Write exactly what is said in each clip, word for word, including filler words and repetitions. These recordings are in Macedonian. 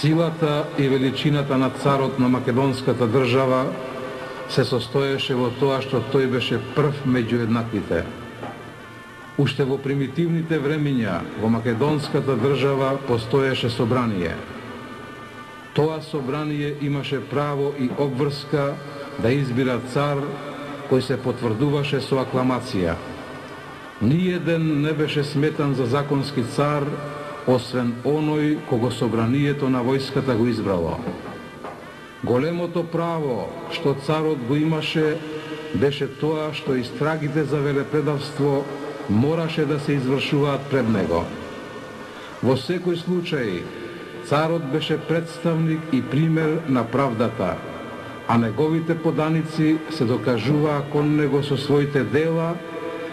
Силата и величината на царот на македонската држава се состоеше во тоа што тој беше прв меѓу еднаквите. Уште во примитивните времиња во македонската држава постоеше собрание. Тоа собрание имаше право и обврска да избира цар кој се потврдуваше со акламација. Ниеден не беше сметан за законски цар, освен оној кого собранието на војската го избрало. Големото право што царот го имаше беше тоа што истрагите за велепредавство мораше да се извршуваат пред него. Во секој случај, царот беше представник и пример на правдата, а неговите поданици се докажуваа кон него со своите дела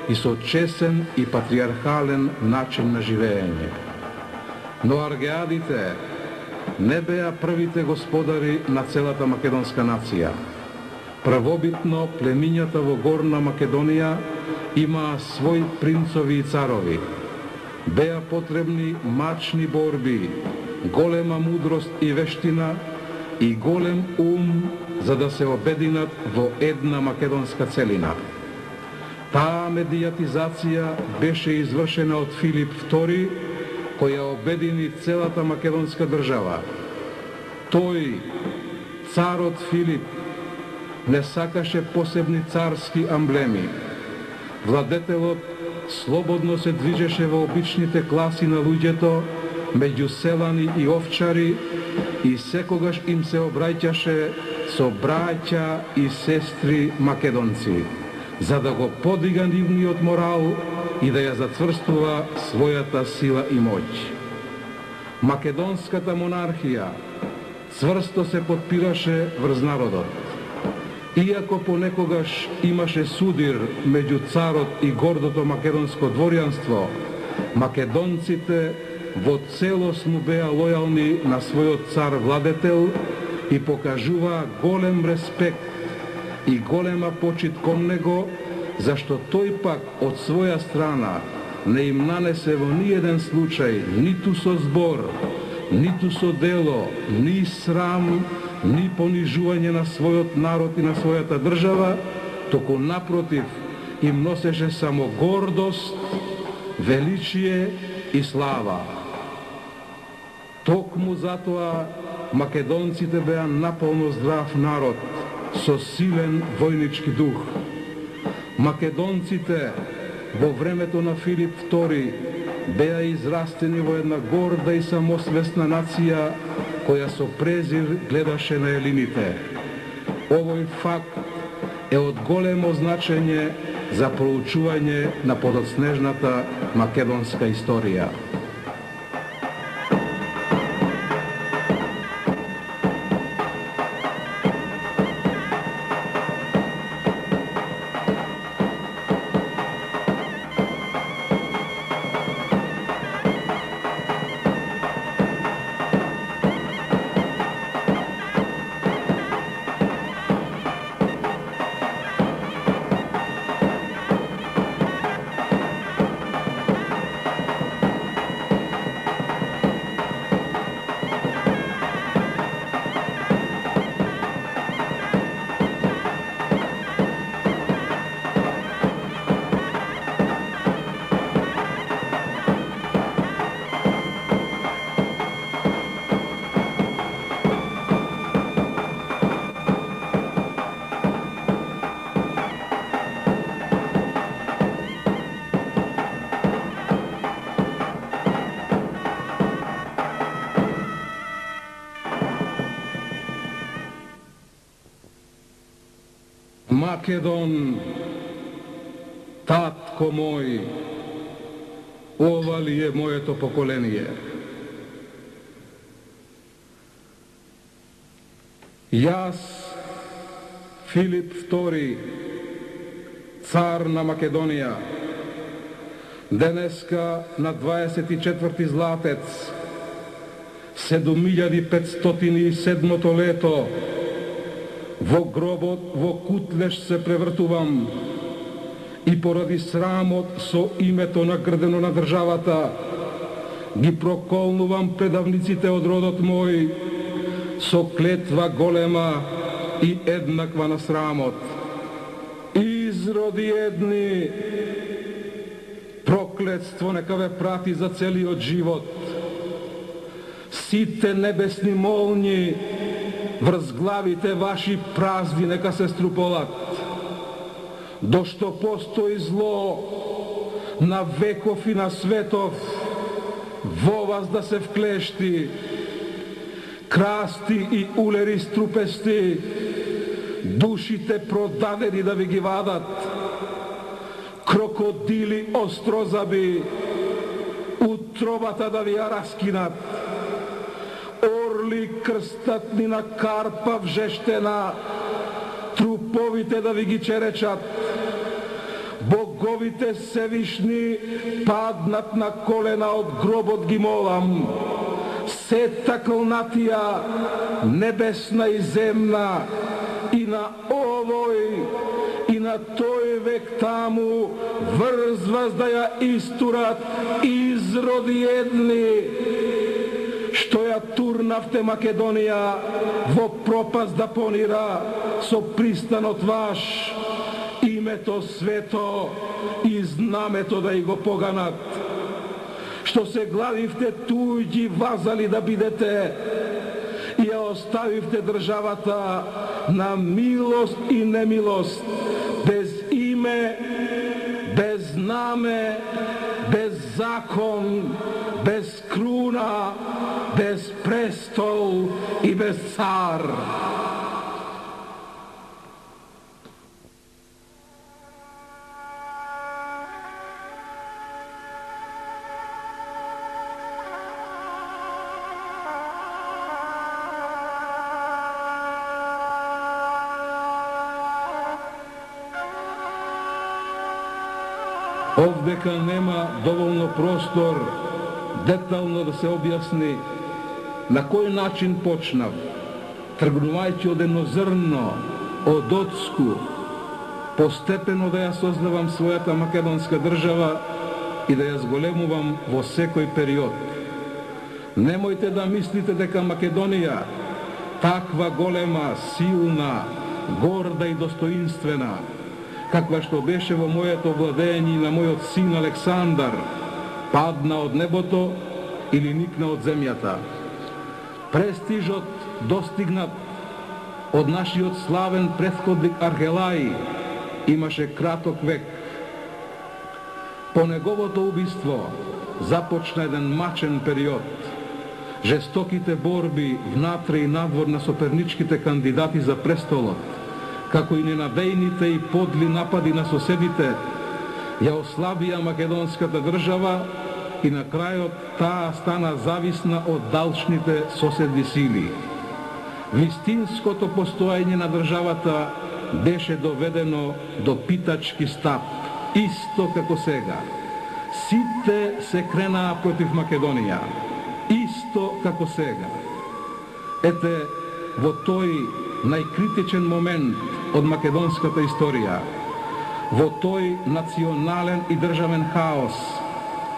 и со чесен и патриархален начин на живеење. Но аргеадите не беа првите господари на целата македонска нација. Првобитно племињата во Горна Македонија имаа своји принцови и царови. Беа потребни мачни борби, голема мудрост и вештина и голем ум за да се обединат во една македонска целина. Таа медијатизација беше извршена од Филип втори, која обедини целата македонска држава. Тој, царот Филип, не сакаше посебни царски амблеми. Владетелот слободно се движеше во обичните класи на луѓето, меѓу селани и овчари, и секогаш им се обраќаше со браќа и сестри македонци, за да го подига нивниот морал и да ја зацврстува својата сила и моќ. Македонската монархија цврсто се подпираше врз народот. Иако понекогаш имаше судир меѓу царот и гордото македонско дворјанство, македонците во целост му беа лојални на својот цар-владетел и покажуваа голем респект и голема почит кон него, зашто тој пак од своја страна не им нанесе во ниеден случај, ниту со збор, ниту со дело, ни срам, ни понижување на својот народ и на својата држава, току напротив им носеше само гордост, величие и слава. Токму затоа македонците беа наполно здрав народ, со силен војнички дух. Македонците во времето на Филип втори беа израстени во една горда и самосвесна нација која со презир гледаше на елините. Овој факт е од големо значење за проучување на подоцнежната македонска историја. Македон, татко мој, ова ли е моето поколение? Јас, Филип втори, цар на Македонија, денеска на дваесет и четврти златец, седум илјади петстотини и седмото лето, во гробот во кутлеш се превртувам и поради срамот со името нагрдено на државата ги проколнувам предавниците од родот мој со клетва голема и еднаква на срамот. Изроди едни, проклетство нека ве прати за целиот живот. Сите небесни молњи врз главите ваши празни нека се струполат. Дошто постои зло на веков и на светов, во вас да се вклешти, красти и улери струпести, душите продадени да ви ги вадат, крокодили острозаби, утробата да ви ја раскинат, орли крстатни на карпа вжештена, труповите да ви ги черечат, боговите севишни паднат на колена од гробот ги молам, сета клнатија, небесна и земна, и на овој, и на тој век таму, врз вас да ја истурат изроди едни, што ја турнавте Македонија во пропаст да понира со пристанот ваш, името свето и знамето да и го поганат, што се гладивте туѓи вазали да бидете и ја оставивте државата на милост и немилост, без име, без знаме, без закон, без круна, без престол и без цар. Овдека нема доволно простор детално да се објасни на кој начин почнав, тргнувајќи од едно зрно, од оцку, постепено да ја создавам својата македонска држава и да ја зголемувам во секој период. Немојте да мислите дека Македонија, таква голема, силна, горда и достоинствена, каква што беше во моето владење и на мојот син Александар, падна од небото или никна од земјата. Престижот достигнат од нашиот славен претходник Архелај имаше краток век. По неговото убиство започна еден мачен период. Жестоките борби внатре и надвор на соперничките кандидати за престолот, како и ненадејните и подли напади на соседите, ја ослабија македонската држава и на крајот таа стана зависна од далечните соседни сили. Вистинското постоење на државата беше доведено до питачки стап, исто како сега. Сите се кренаа против Македонија, исто како сега. Ете, во тој најкритичен момент од македонската историја, во тој национален и државен хаос,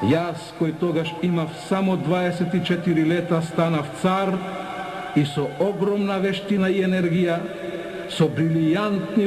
јас, кој тогаш имав само дваесет и четири лета, станав цар и со огромна вештина и енергија, со брилијантни